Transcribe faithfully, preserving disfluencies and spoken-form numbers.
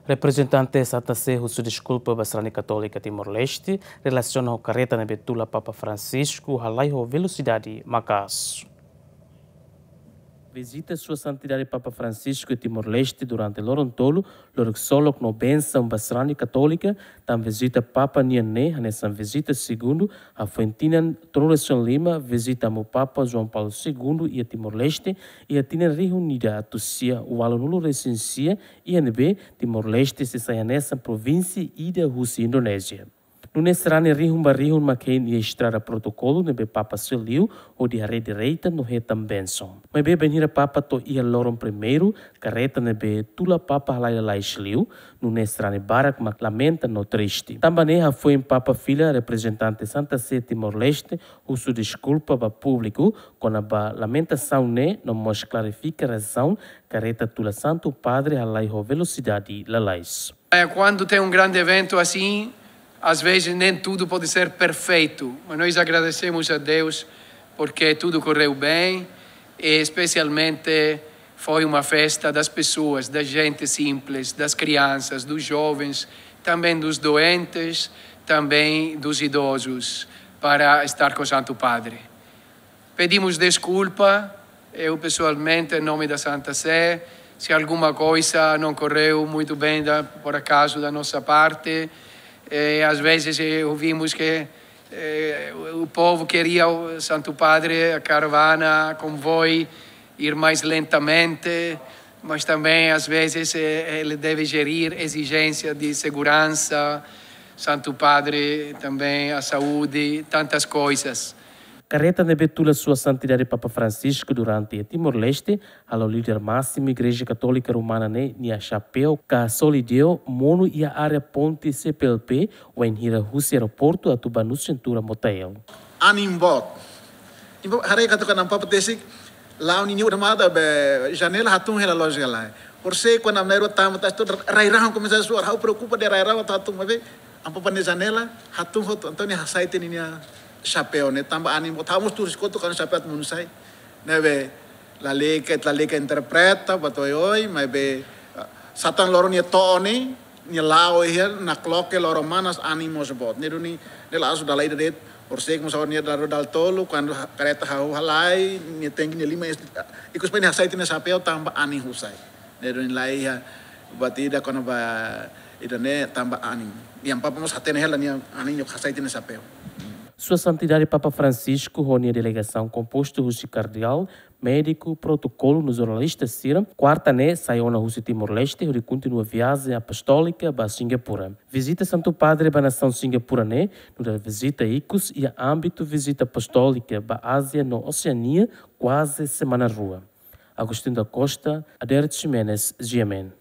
Reprezentante Santa Sé husu deskulpa ba sarani Katólika Timor-Leste relasiona ho kareta ne'ebé tula Papa Francisco halai ho velosidade maka'as. Vizita Sua Santidade Papa Francisco iha Timor-Leste durante loron tolu, lori ksolok no bensaun ba sarani Katólika, tanba vizita Papa nian ne'e hanesan vizita segundu, hafoin tinan tolunulu-resin-lima vizita Amu Papa João Paulo Segundo iha Timor-Leste, iha tinan rihun ida atus sia ualunulu-resin-sia, iha ne'ebé Timor-Leste sei sai hanesan provínsia ida husi Indonézia. Nune'e sarani rihun ba rihun mak hein iha estrada protokolu ne'ebé Papa sei liu hodi haree direita no hetan bensaun. Maibé bainhira Papa to'o iha loron primeiru, kareta ne'ebé tula Papa halai lalais liu, nune'e sarani barak mak lamenta no triste. Tanba ne'e hafoin Papa fila reprezentante Santa Sé Timor-Leste husu deskulpa ba públiku kona-ba lamentasaun ne'e no mós klarifika razaun kareta tula Santu Padre halai ho velosidade lalais. É, quando tem um grande evento assim, às vezes nem tudo pode ser perfeito, mas nós agradecemos a Deus porque tudo correu bem e especialmente foi uma festa das pessoas, da gente simples, das crianças, dos jovens, também dos doentes, também dos idosos, para estar com o Santo Padre. Pedimos desculpa, eu pessoalmente, em nome da Santa Sé, se alguma coisa não correu muito bem, da, por acaso, da nossa parte. Eh, às vezes, eh, ouvimos que, eh, o, o povo queria o Santo Padre, a caravana, convoio, ir mais lentamente, mas também, às vezes, eh, ele deve gerir exigência de segurança, Santo Padre, também a saúde, tantas coisas. Kareta ne'ebé tula Sua Santidade Papa Francisco durante iha Timor-Leste, halo líder másimu Igreja Katólika Romana ne'e nia xapeu ka solideu monu iha área ponte C P L P, wainhira husi aeroportu atu ba Nusa Tenggara Motael. Anin boot. Imi haree katak Amu Papa tesi la'o ninia udah mata be janela hatún hela loos hela. Por se kuandu ami na'in-rua tama tasi to'o rai-rahun komesa suar, ha'u preokupa de'it rai-rahun atu hatún, maibé Amu Papa nia janela hatún hotu, entaun nia hasai tiha ninia xapeu ne'e tanba anin boot, ha'u mós turis kotuk kan xapeu atu monu sai. Ne'ebé lalika, lalika interpreta, ba to'o oioin, maibé, ah, sá tan loron nia to'o ne'e, nia la'o iha nakloke loron manas, anin mós boot. Ne'e duni, ne'e la'ós dala ida de'it, por se kuandu nia dala rua dala tolu, kuandu ha-, kareta hahú halai, nia tenke nia liman, ikus pai nia hasai tiha nia xapeu tanba anin husai. Ne'e duni laiha buat ida kona-ba ida-ne'e tanba anin. Amu Papa mós hatene hela nia anin nia hasai tiha nia xapeu. Sua Santidade Papa Francisco ho nia delegasaun kompostu husi kardeál, médiku, protokolu no jornalista sira, kuarta ne'e sai ona husi Timor-Leste hodi kontinua viajen apostólika ba Singapura. Vizita Santu Padre ba nasaun Singapura ne'e nu'udar vizita ikus iha ámbitu vizita apostólika ba Ázia no Oseania kuaze semana rua. Agostinho da Costa, Adérito Ximenes, G M N.